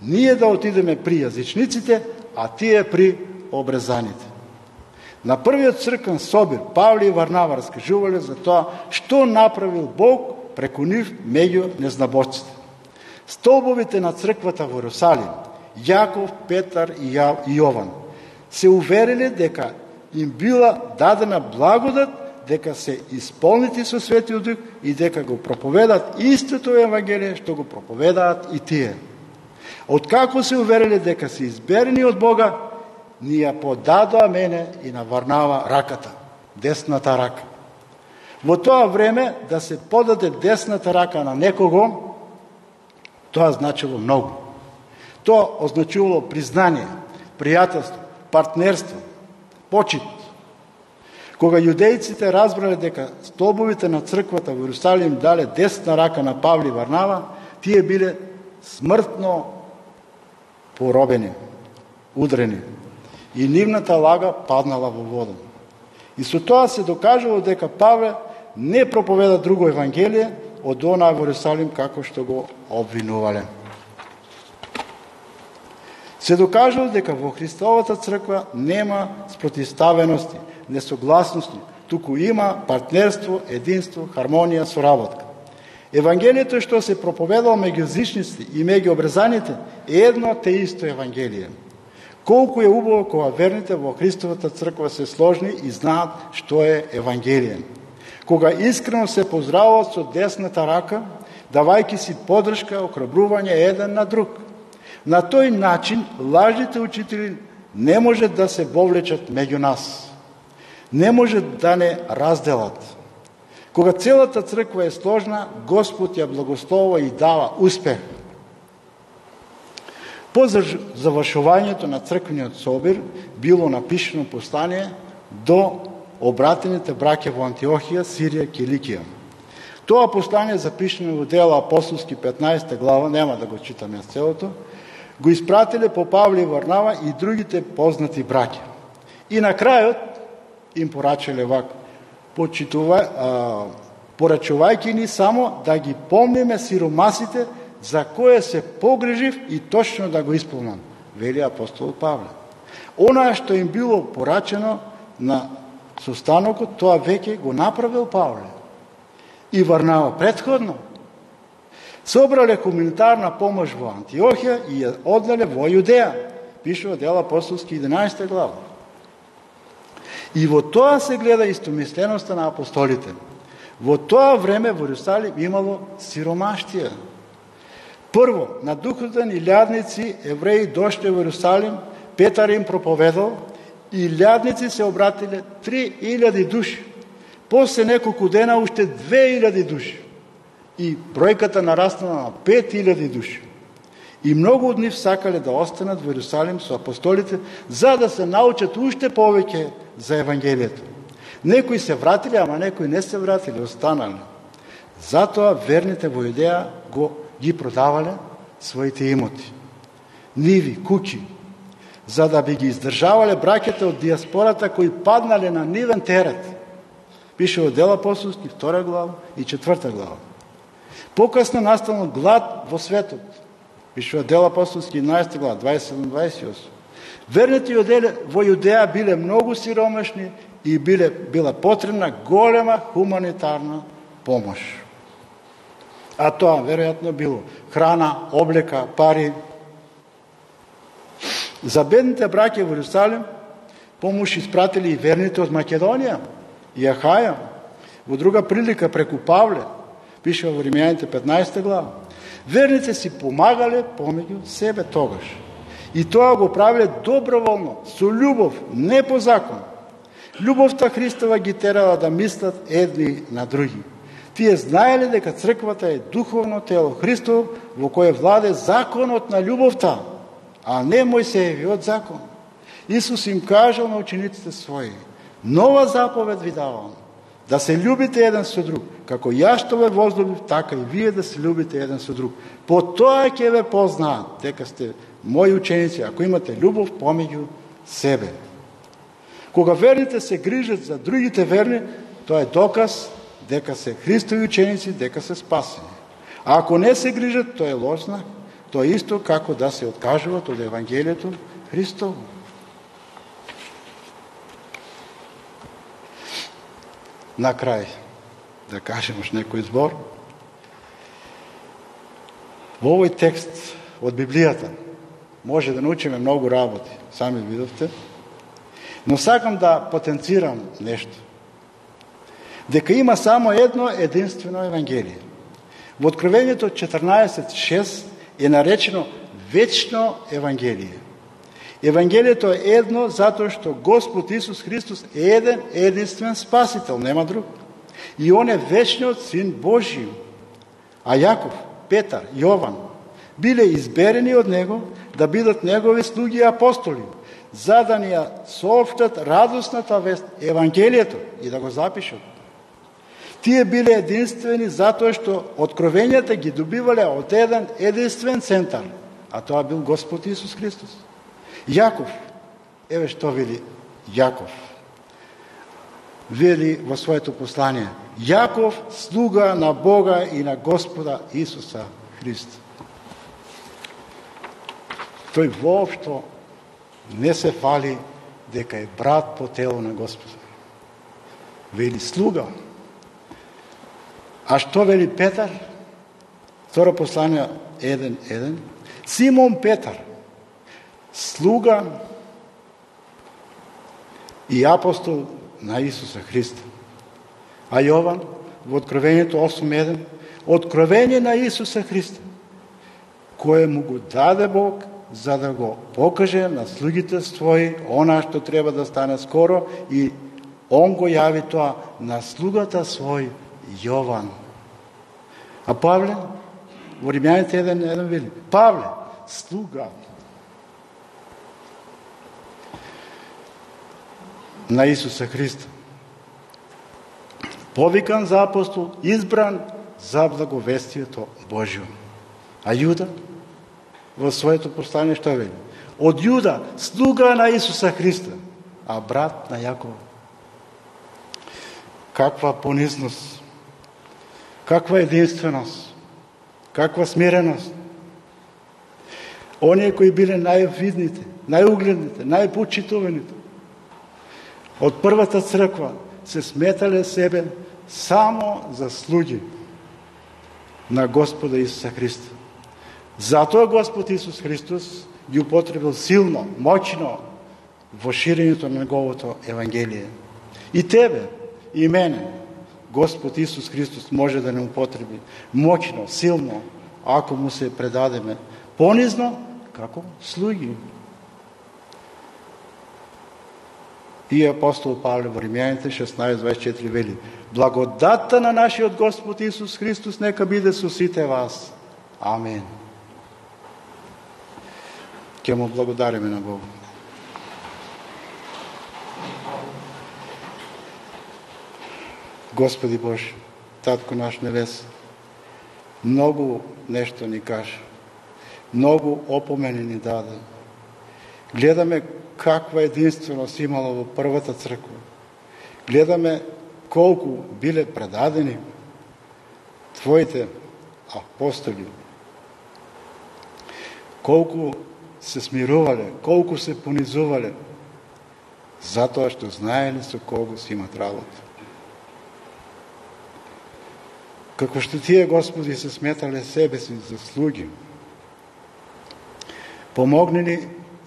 ние да отидеме при јазичниците, а тие при обрезаните. На првиот црквен собир Павле и Варнава раскажувале за тоа што направил Бог преку нив меѓу незнабожците. Столбовите на црквата во Иерусалим, Јаков, Петар и Јован, се увериле дека им била дадена благодат, дека се исполнити со Светиот Дух и дека го проповедаат истото Евангелие што го проповедаат и тие. Откако се увериле дека се изберени од Бога, ни ја подадоа мене и на Варнава раката, десната рака. Во тоа време да се подаде десната рака на некого, тоа значило многу. Тоа означувало признание, пријателство, партнерство, почит. Кога јудејците разбрале дека столбовите на црквата во Иерусалим дале десна рака на Павле и Варнава, тие биле смртно поробени, удрени. И нивната лага паднала во вода. И со тоа се докажало дека Павле не проповеда друго Евангелие од онаа во Иерусалим како што го обвинувале. Се докажало дека во Христовата црква нема спротивставености, несогласности, туку има партнерство, единство, хармонија, соработка. Евангелието што се проповедало меѓу јазичниците и меѓу обрезаните е едно те исто Евангелие. Колку е убаво кога верните во Христовата црква се сложни и знаат што е Евангелие. Кога искрено се поздравуват со десната рака, давајќи си подршка, охрабрување еден на друг. На тој начин лажните учители не може да се вовлечат меѓу нас. Не може да не разделат. Кога целата црква е сложна, Господ ја благословува и дава успех. По завршувањето на црквениот собир било напишано послание до обратените браќа во Антиохија, Сирија, Киликија. Тоа послание запишено во Дела апостолски 15 глава, нема да го читам јас целото, го испратиле по Павле и Варнава и другите познати браќа. И на крајот им порачале вака: порачувајќи ни само да ги помниме сиромасите за кое се погрежив и точно да го исполнам, вели апостол Павле. Она што им било порачено на состанокот, тоа веќе го направил Павле и Варнава предходно. Собрале хуманитарна помош во Антиохија и ја однале во Јудеја, пишува Дела апостолски 11 глава. И во тоа се гледа истомисленоста на апостолите. Во тоа време во Иерусалим имало сиромаштија. Прво, на духовен и лјадници евреи дошле во Иерусалим, Петар им проповедал и лјадници се обратиле 3000 души. После неколку дена уште 2000 души. И бројката нараснала на 5000 души. И многу од нив сакале да останат во Иерусалим со апостолите, за да се научат уште повеќе за Евангелието. Некои се вратиле, ама некои не се вратиле, останале. Затоа верните во Јудеја ги продавале своите имоти, ниви, куќи, за да би ги издржавале браќата од диаспората кои паднале на нивен терет. Пише во Дела апостолски 2 глава и 4 глава. Покасно настанал глад во светот. Пише во Дела апостолски 11 глава, 27-28. Верните во Јудеја биле многу сиромашни и била потребна голема хуманитарна помош. А тоа веројатно било храна, облека, пари. За бедните браќа во Иерусалим помош испратили и верните од Македонија и Ахаја. Во друга прилика преку Павле, пише во Римјаните 15 глава, верните си помагале помеѓу себе тогаш. И тоа го правиле доброволно, со љубов, не по закон. Љубовта Христова ги терала да мислат едни на други. Тие знаеле дека црквата е духовно тело Христово, во кое владе законот на љубовта, а не Мојсеевиот закон. Исус им кажал на учениците своји: нова заповед ви давам, да се љубите еден со друг. како јас што ве возлюбив, така и вие да се љубите еден со друг. По тоа ќе ве познаат дека сте мои ученици, ако имате љубов помеѓу себе. Кога верните се грижат за другите верни, тоа е доказ дека се Христови ученици, дека се спасени. А ако не се грижат, тоа е лош знак. Тоа е исто како да се откажуваат од Евангелието Христово. На крај, да кажем уште некој збор. Во овој текст од Библијата може да научиме многу работи, сами видовте, но сакам да потенцирам нешто. Дека има само едно единствено Евангелие. Во Откровението 14.6 е наречено вечно Евангелие. Евангелието е едно затоа што Господ Исус Христос е еден единствен спасител, нема друг. И он е вечниот Син Божи. А Јаков, Петар, Јован биле изберени од него да бидат негови слуги и апостоли, за да ни ја соопштат радосната вест, Евангелието, и да го запишат. Тие биле единствени затоа што откровенијата ги добивале од еден единствен центар, а тоа бил Господ Исус Христос. Јаков, еве што вели Јаков. Вели во своето послание: Јаков, слуга на Бога и на Господа Исуса Христа. Тој воопшто не се фали дека е брат по тело на Господа. Вели слуга. А што вели Петар? Второ послание 1.1. Симон Петар, слуга и апостол на Исуса Христа. А Јован во Откровението 8.1, откровение на Исуса Христа, кое му го даде Бог за да го покаже на слугите своји она што треба да стане скоро, и он го јави тоа на слугата свој Јован. А Павле во Римјаните 1.1 вели: Павле, слуга на Исуса Христа, повикан за апостол, избран за благовестието Божјо. А Јуда во своето послание што вели? Од Јуда, слуга на Исуса Христа, а брат на Јакова. Каква понизност, каква единственост, каква смиреност. Оние кои биле највидните, најугледните, најпочитуваните од првата црква се сметале себе само за слуги на Господа Исуса Христа. Затоа Господ Исус Христос ги употребил силно, моќно во ширењето на неговото Евангелие. И тебе, и мене, Господ Исус Христос може да не употреби моќно, силно, ако му се предадеме понизно, како слуги. И апостол Павле во Римјаните 16.24 вели: благодатта на нашиот Господ Исус Христос нека биде со сите вас. Амин. Ке му благодариме на Бога. Господи Боже, Татко наш небес, многу нешто ни кажа, многу опомени ни даде. Гледаме каква единственост имало во првата црква. Гледаме колку биле предадени Твоите апостоли, колку се смирувале, колку се понизувале, затоа што знаеле со кого си имат работа. Како што Тие, Господи, се сметале себе си за слуги, помогни ни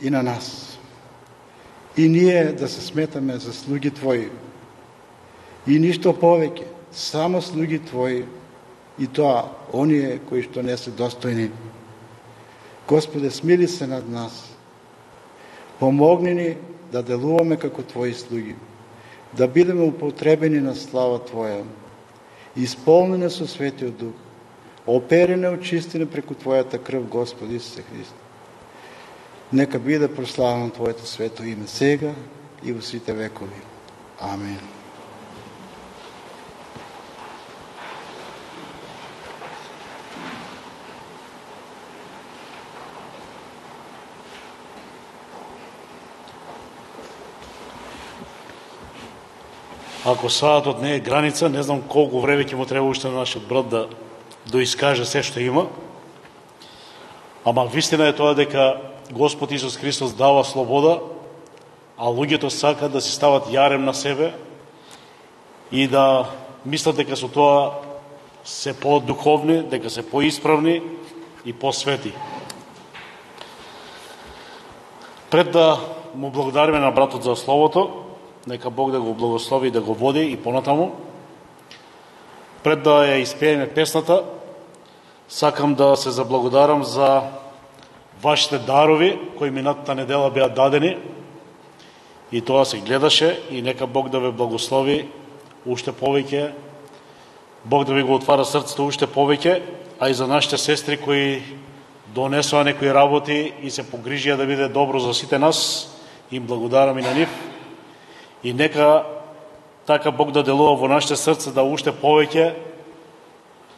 и на нас. И ние да се сметаме за слуги Твои. И ништо повеќе, само слуги Твои, и тоа оние кои што не се достојни. Господе, смили се над нас. Помогни ни да делуваме како Твои слуги, да бидеме употребени на слава Твоја, исполнени со Светиот Дух, оперени, очистени преку Твојата крв, Господи Исусе Христе. Нека биде прославено Твоето свето име сега и во сите векови. Амин. Ако саатот не е граница, не знам колку време ќе му треба уште на нашиот брат да доискаже се што има. Ама вистина е тоа дека Господ Исус Христос дава слобода, а луѓето сакаат да си стават јарем на себе и да мислат дека со тоа се по-духовни, дека се по-исправни и по-свети. Пред да му благодариме на братот за словото, нека Бог да го благослови и да го води и понатаму. Пред да ја испееме песната, сакам да се заблагодарам за вашите дарови кои минатата недела беа дадени и тоа се гледаше и нека Бог да ве благослови уште повеќе, Бог да ви го отвара срцето уште повеќе, а и за нашите сестри кои донесоа некои работи и се погрижија да биде добро за сите нас, им благодарам и на нив. И нека така Бог да делува во нашите срца да уште повеќе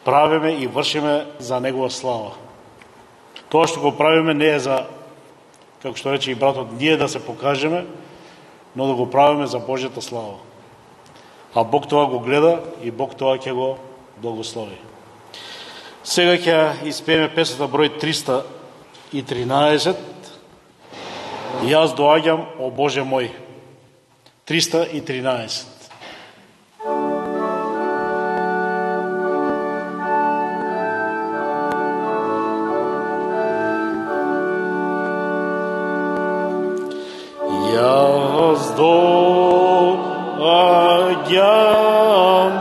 правиме и вршиме за Негова слава. Тоа што го правиме не е за, како што рече и братот, ние да се покажеме, но да го правиме за Божјата слава. А Бог тоа го гледа и Бог тоа ќе го благослови. Сега ќе испееме песната број 313. Јас доаѓам, о Боже мој. 313. Јас доаѓам,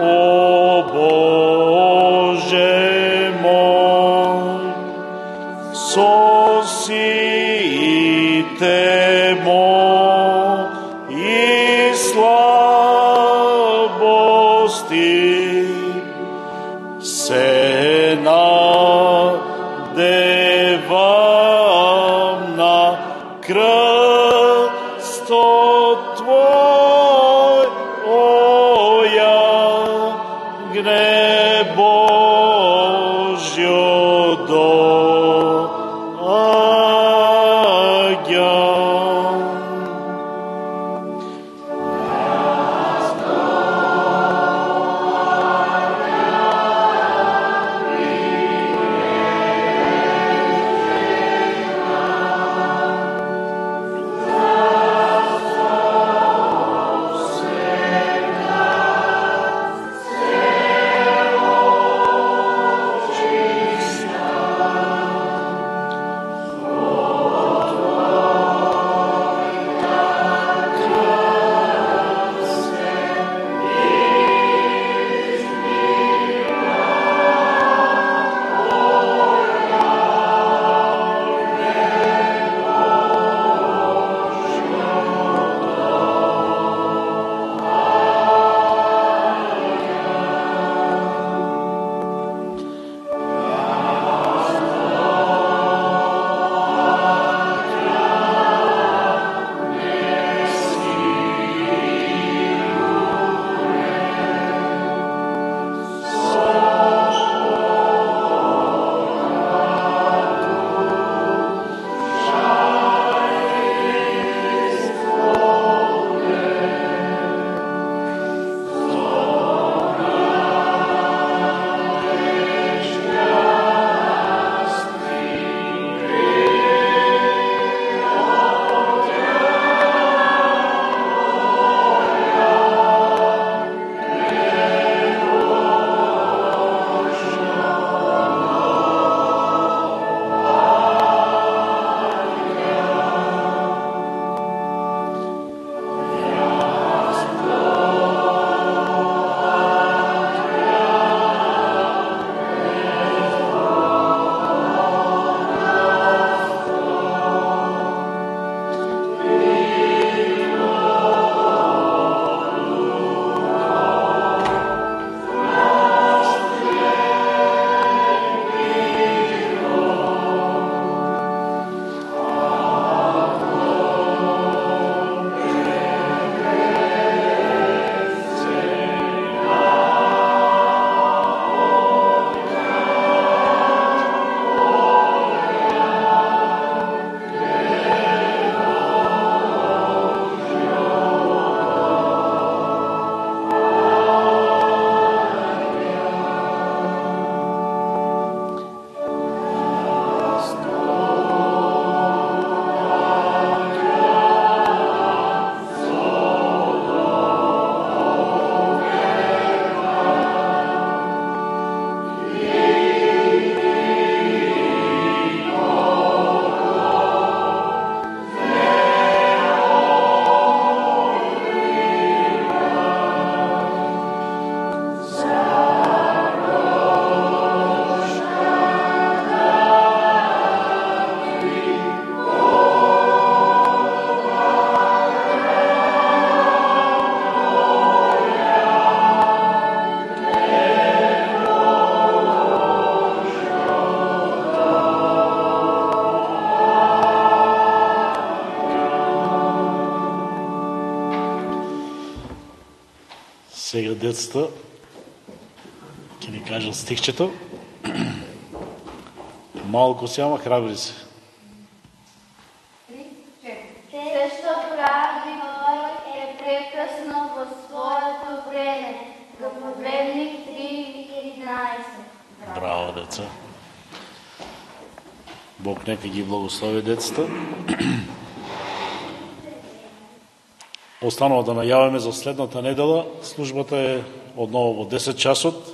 о Боже мој, со сите мои слабости, се надевам на крстот Сега децата ќе ни кажат стихчето. Малко се, ама храбри се. Се што прави Бог е прекрасно во своето време. Проповедник 3:11. Браво, деца. Бог нека ги благослови децата. Останува да најавиме за следната недела. Службата е одново во 10 часот.